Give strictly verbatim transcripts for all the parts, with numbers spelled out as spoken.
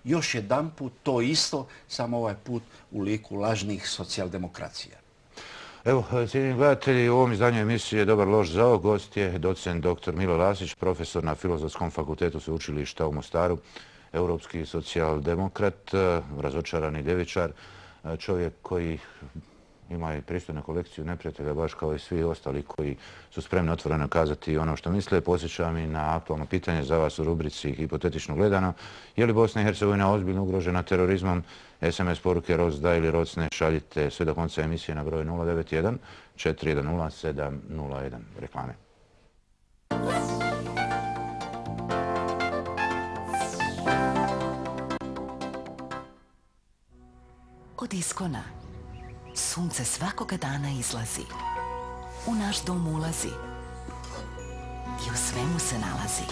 još jedan put to isto, samo ovaj put u liku lažnih socijaldemokracija. Evo, cijenjeni gledatelji, u ovom izdanju emisije Dobar loš zao gost je docent doktor Mile Lasić, profesor na Filozofskom fakultetu Sveučilišta u Mostaru, europski socijaldemokrat, razočarani ljevičar, čovjek koji ima i pristojnu kolekciju neprijatelja, baš kao i svi ostali koji su spremni otvoreno kazati ono što misle. Posjećam i na aktualno pitanje za vas u rubrici Hipotetično gledano. Je li Bosna i Hercegovina ozbiljno ugrožena terorizmom? es em es poruke roc da ili rocne šaljite sve do konca emisije na broj nula devet jedan četiri jedan nula sedam nula jedan. Reklame. Od Iskona sunce svakoga dana izlazi, u naš dom ulazi i u svemu se nalazi.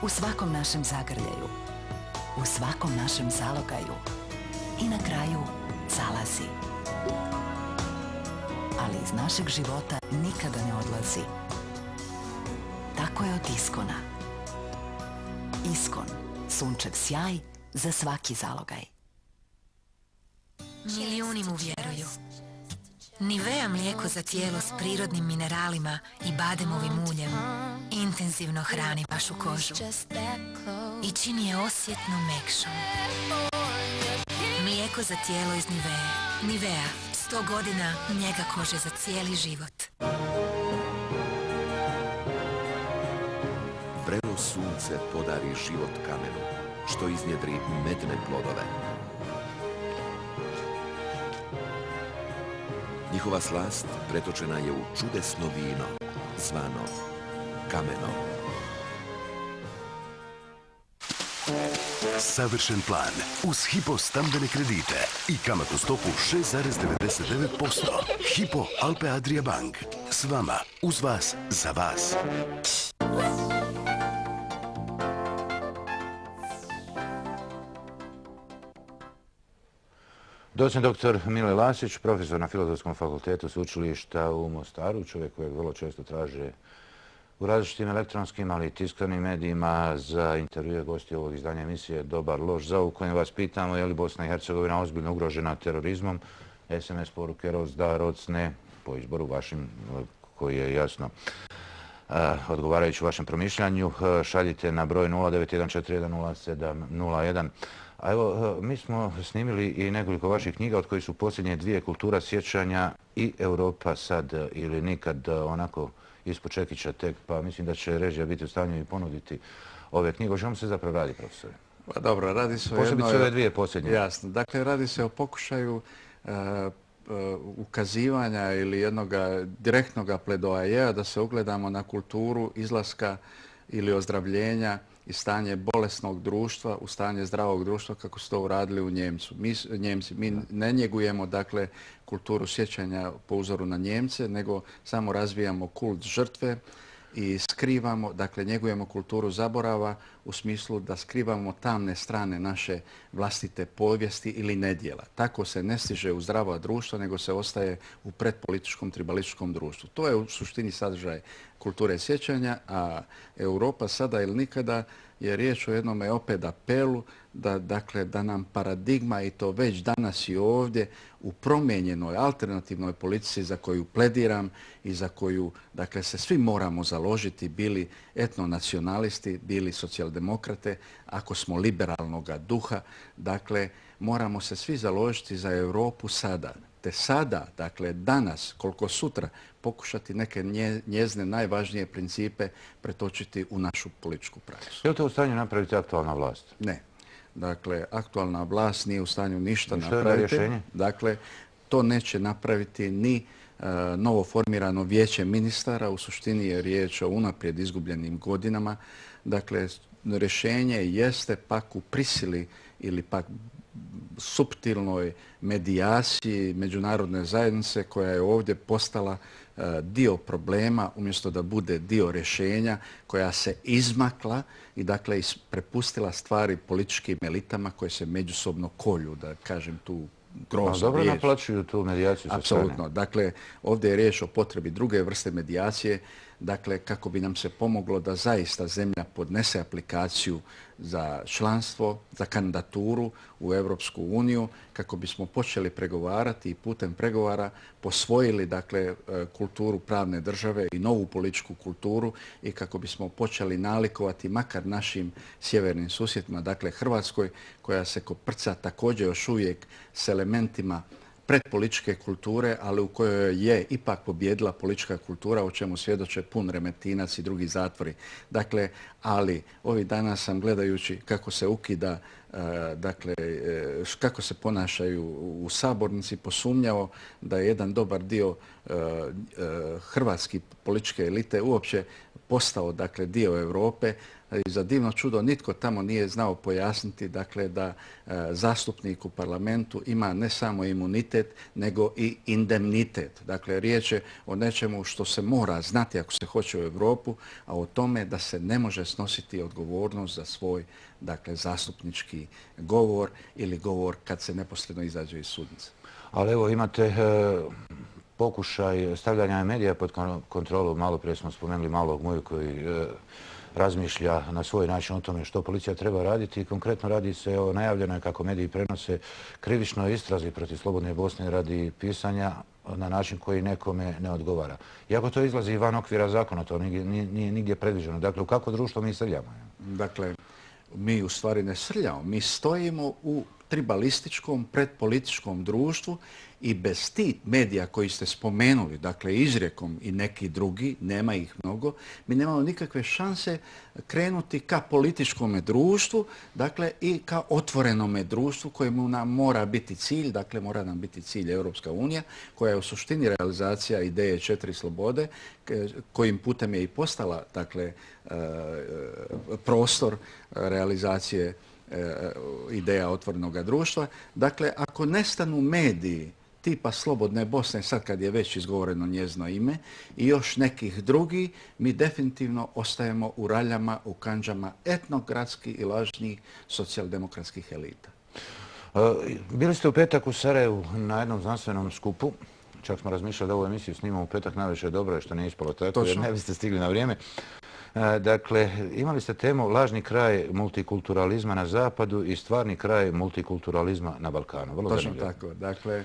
U svakom našem zagrljaju, u svakom našem zalogaju i na kraju zalazi. Ali iz našeg života nikada ne odlazi. Tako je od Iskona. Iskon, sunčev sjaj za svaki zalogaj. Milijuni mu vjeruju. Nivea mlijeko za tijelo s prirodnim mineralima i bademovim uljem intenzivno hrani vašu kožu i čini je osjetno mekšom. Mlijeko za tijelo iz Nivea. Nivea, sto godina njega kože za cijeli život. Vrelo sunce podari život kamenu, što iznjedri medne plodove. Njihova slast pretočena je u čudesno vino, zvano kameno. Savršen plan uz Hypo stambene kredite i kamatnu stopu šest zarez devedeset devet posto. Hypo Alpe Adria Bank. S vama, uz vas, za vas. Docent doktor Mile Lasić, profesor na Filozofskom fakultetu Sveučilišta u Mostaru, čovjek kojeg vrlo često traže u različitim elektronskim, ali i tiskanim medijima za intervjue gosti ovog izdanja emisije Dobar loš zao, u kojem vas pitamo je li Bosna i Hercegovina ozbiljno ugrožena terorizmom. es em es poruke roc da, roc ne, po izboru vašim koji je jasno odgovarajući vašem promišljanju. Šaljite na broj nula devet jedan četiri jedan nula sedam nula jedan. A evo, mi smo snimili i nekoliko vaših knjiga, od kojih su posljednje dvije Kultura sjećanja i Europa sad ili nikad, onako ispod čekića tek, pa mislim da će režija biti u stanju i ponuditi ove knjige. O čemu se zapravo radi, profesore? Pa dobro, radi se o jednoj... Posebice ove dvije posljednje. Jasno. Dakle, radi se o pokušaju uh, uh, ukazivanja ili jednog direktnog pledoajeja da se ugledamo na kulturu izlaska ili ozdravljenja i stanje bolesnog društva u stanje zdravog društva kako su to uradili u Njemcu. Mi, Njemci. Mi ne njegujemo dakle kulturu sjećanja po uzoru na Njemce, nego samo razvijamo kult žrtve i skrivamo, dakle njegujemo kulturu zaborava u smislu da skrivamo tamne strane naše vlastite povijesti ili nedjela. Tako se ne stiže u zdravo društvo, nego se ostaje u predpolitičkom tribalističkom društvu. To je u suštini sadržaj kulture sjećanja, a Europa sada ili nikada je riječ o jednom opet apelu da, dakle, da nam paradigma, i to već danas i ovdje, u promijenjenoj alternativnoj politici za koju plediram i za koju, dakle, se svi moramo založiti, bili etnonacionalisti, bili socijaldemokrate, ako smo liberalnog duha, dakle, moramo se svi založiti za Europu sada. Te sada, dakle danas, koliko sutra, pokušati neke njezine najvažnije principe pretočiti u našu političku praksu. Je li to u stanju napraviti aktualna vlast? Ne. Dakle, aktualna vlast nije u stanju ništa napraviti. Što je rješenje? Dakle, to neće napraviti ni uh, novo formirano vijeće ministara. U suštini je riječ o unaprijed izgubljenim godinama. Dakle, rješenje jeste pak u prisili ili pak suptilnoj medijaciji međunarodne zajednice koja je ovdje postala uh, dio problema umjesto da bude dio rješenja, koja se izmakla i dakle prepustila stvari političkim elitama koje se međusobno kolju, da kažem tu groznu riječ. Dobro naplaćuju tu medijaciju sa strane. Apsolutno. Dakle, ovdje je riječ o potrebi druge vrste medijacije. dakle kako bi nam se pomoglo da zaista zemlja podnese aplikaciju za članstvo, za kandidaturu u Europsku uniju, kako bismo počeli pregovarati i putem pregovara posvojili dakle kulturu pravne države i novu političku kulturu i kako bismo počeli nalikovati makar našim sjevernim susjedima, dakle Hrvatskoj koja se koprca također još uvijek s elementima predpolitičke kulture, ali u kojoj je ipak pobjedila politička kultura, o čemu svjedoče Pun Remetinac i drugi zatvori. Dakle, ali ovih dana sam gledajući kako se ukida, dakle, kako se ponašaju u sabornici, posumnjao da je jedan dobar dio hrvatske političke elite uopće postao, dakle, dio Europe. I za divno čudo nitko tamo nije znao pojasniti, dakle, da e, zastupnik u parlamentu ima ne samo imunitet, nego i indemnitet. Dakle, riječ je o nečemu što se mora znati ako se hoće u Europu, a o tome da se ne može snositi odgovornost za svoj, dakle, zastupnički govor ili govor kad se neposredno izađe iz sudnice. Ali evo imate e, pokušaj stavljanja medija pod kontrolu. Malo prije smo spomenuli malog moju koji e, razmišlja na svoj način o tome što policija treba raditi i konkretno radi se o najavljenoj, kako mediji prenose, krivičnoj istrazi protiv Slobodne Bosne radi pisanja na način koji nekome ne odgovara. Iako to izlazi van okvira zakona, to nije, nije nigdje predviđeno. Dakle, u kakvo društvo mi srljamo? Dakle, mi u stvari ne srljamo. Mi stojimo u tribalističkom, predpolitičkom društvu i bez tih medija koji ste spomenuli, dakle izrijekom i neki drugi, nema ih mnogo, mi nemamo nikakve šanse krenuti ka političkom društvu, dakle i ka otvorenome društvu kojemu nam mora biti cilj, dakle mora nam biti cilj Europska unija, koja je u suštini realizacija ideje četiri slobode, kojim putem je i postala, dakle, prostor realizacije ideja otvorenog društva. Dakle, ako nestanu mediji tipa Slobodne Bosne, sad kad je već izgovoreno njezino ime, i još nekih drugi, mi definitivno ostajemo u raljama, u kandžama etnogradskih i lažnih socijaldemokratskih elita. Bili ste u petak u Sarajevu na jednom znanstvenom skupu. Čak smo razmišljali da ovu emisiju snimamo u petak, najviše dobro je što nije ispalo tako, jer ne biste stigli na vrijeme. Dakle, imali ste temu lažni kraj multikulturalizma na zapadu i stvarni kraj multikulturalizma na Balkanu. Vrlo Točno zanimljivo. tako. Dakle, e,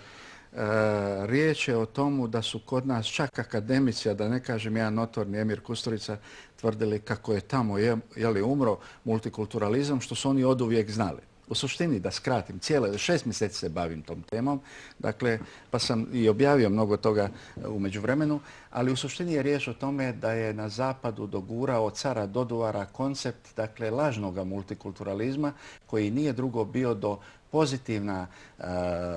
riječ je o tomu da su kod nas čak akademici, a da ne kažem jedan notorni Emir Kusturica, tvrdili kako je tamo je, je li umro multikulturalizam, što su oni oduvijek znali. U suštini, da skratim, cijele šest mjeseci se bavim tom temom, dakle, pa sam i objavio mnogo toga u međuvremenu, ali u suštini je riječ o tome da je na zapadu dogurao od cara Doduvara koncept, dakle, lažnog multikulturalizma, koji nije drugo bio do pozitivna uh,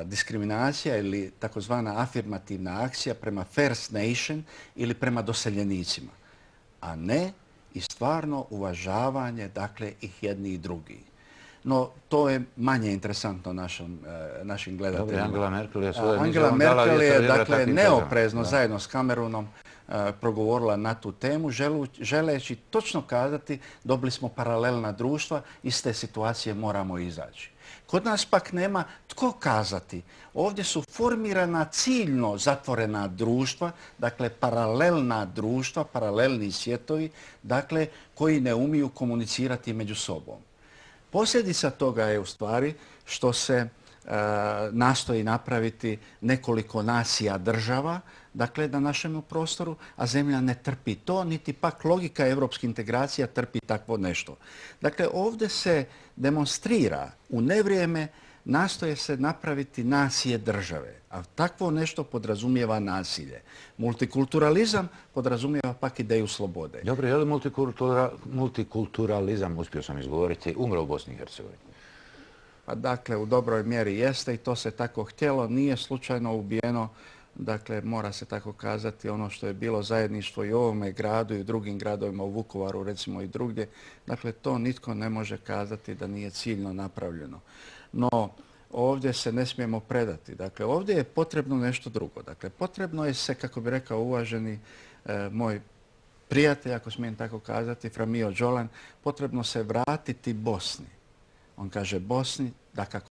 diskriminacija ili takozvana afirmativna akcija prema First Nation ili prema doseljenicima, a ne i stvarno uvažavanje, dakle, ih jedni i drugi. No, to je manje interesantno našom, e, našim gledateljima. Dobre, Angela Merkel je svoje Angela Merkel je, dakle, neoprezno zajedno s Cameronom e, progovorila na tu temu, želu, želeći točno kazati dobili smo paralelna društva, iz te situacije moramo izaći. Kod nas pak nema tko kazati. Ovdje su formirana ciljno zatvorena društva, dakle paralelna društva, paralelni svjetovi, dakle koji ne umiju komunicirati među sobom. Posljedica toga je u stvari što se e, nastoji napraviti nekoliko nacija država, dakle na našem prostoru, a zemlja ne trpi to, niti pak logika evropskih integracija trpi takvo nešto. Dakle, ovdje se demonstrira u nevrijeme, nastoje se napraviti nacije države, a takvo nešto podrazumijeva nasilje. Multikulturalizam podrazumijeva pak ideju slobode. Dobro, je li multikultura, multikulturalizam, uspio sam izgovoriti, umro u Bosni i Hercegovini? Pa dakle, u dobroj mjeri jeste i to se tako htjelo, nije slučajno ubijeno. Dakle, mora se tako kazati, ono što je bilo zajedništvo i u ovome gradu i u drugim gradovima, u Vukovaru recimo i drugdje. Dakle, to nitko ne može kazati da nije ciljno napravljeno. No, ovdje se ne smijemo predati. Dakle, ovdje je potrebno nešto drugo. Dakle, potrebno je se, kako bi rekao uvaženi e, moj prijatelj, ako smijem tako kazati, Framio Đolan, potrebno se vratiti Bosni. On kaže Bosni, da kako